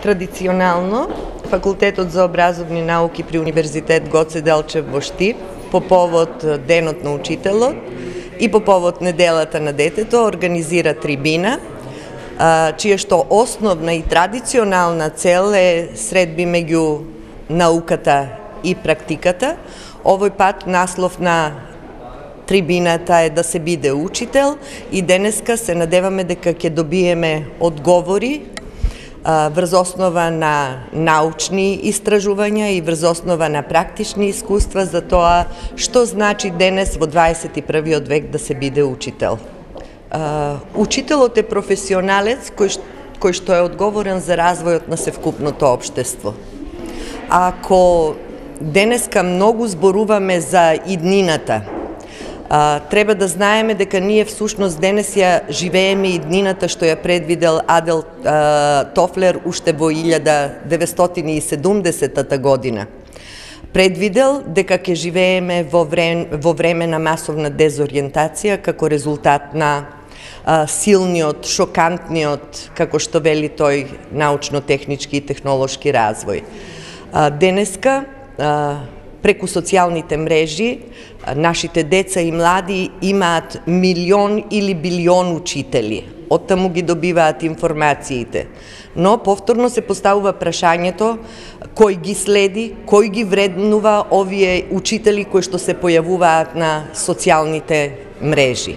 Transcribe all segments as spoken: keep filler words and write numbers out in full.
Традиционално, Факултетот за образовни науки при Универзитет Гоце Делчев во Штип, по повод Денот на учителот и по повод Неделата на детето, организира трибина, чија што основна и традиционална цел е средби меѓу науката и практиката. Овој пат наслов на трибината е да се биде учител и денеска се надеваме дека ќе добиеме одговори врз основа на научни истражувања и врз основа на практични искуства за тоа што значи денес во дваесет и првиот век да се биде учител. Учителот е професионалец кој, кој што е одговорен за развојот на севкупното општество. Ако денеска многу зборуваме за иднината, треба да знаеме дека ние всушност денес ја живееме иднината што ја предвидел Адел Тофлер уште во илјада деветстотини и седумдесетата година. Предвидел дека ќе живееме во време, во време на масовна дезориентација како резултат на а, силниот, шокантниот, како што вели тој, научно-технички и технолошки развој. А, денеска, а, преку социјалните мрежи, нашите деца и млади имаат милион или билион учители. Оттаму ги добиваат информациите. Но повторно се поставува прашањето кој ги следи, кој ги вреднува овие учители кои што се појавуваат на социјалните мрежи.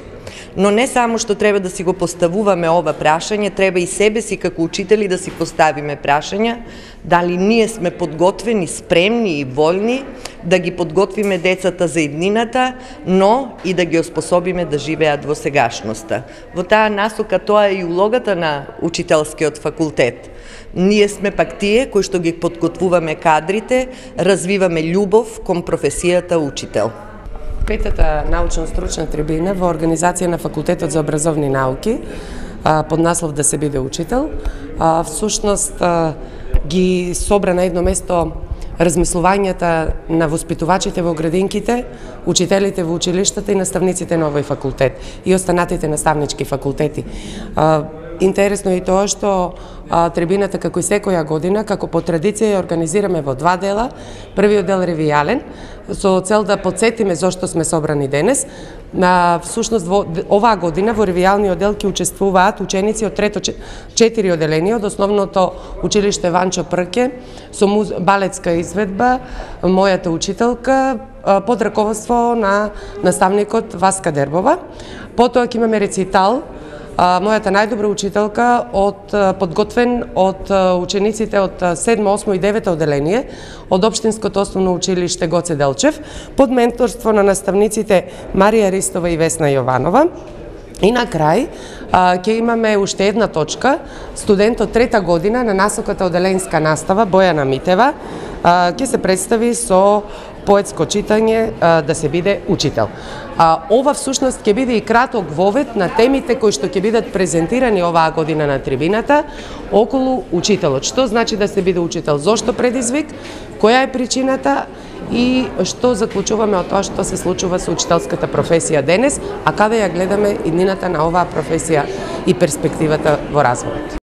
Но не само што треба да си го поставуваме ова прашање, треба и себе си како учители да си поставиме прашања дали ние сме подготвени, спремни и воljни да ги подготвиме децата за иднината, но и да ги оспособиме да живеат во сегашноста. Во таа насока тоа е и улогата на учителскиот факултет. Ние сме пак тие кои што ги подготвуваме кадрите, развиваме љубов кон професијата учител. Петата научно-стручна трибина во организација на Факултетот за образовни науки под наслов да се биде учител, всушност ги собра на едно место размислувањата на воспитувачите во градинките, учителите во училиштата и наставниците на овој факултет и останатите наставнички факултети. Интересно е и тоа што а, трибината како и секоја година, како по традиција ја организираме во два дела. Првиот дел ревијален, со цел да подсетиме зошто сме собрани денес. На всушност во оваа година во ревијалниот дел ќе учествуваат ученици од трето четири оделенија од основното училиште Ванчо Прке со муз... балетска изведба, мојата учителка под раководство на наставникот Васка Дербова. Потоа ќе имаме рецитал, мојата најдобра учителка од подготвен од учениците од седмо, осмо и девето оделение од Општинското основно училиште Гоце Делчев под менторство на наставниците Марија Ристова и Весна Јованова. И на крај ќе имаме уште една точка, студент од трета година на насоката оделенска настава Бојана Митева ќе се представи со поетско читање да се биде учител. Ова всушност ќе биде и краток вовед на темите кои што ќе бидат презентирани оваа година на трибината околу учителот. Што значи да се биде учител, зошто предизвик, која е причината и што заклучуваме од тоа што се случува со учителската професија денес, а каде ја гледаме иднината на оваа професија и перспективата во развојот.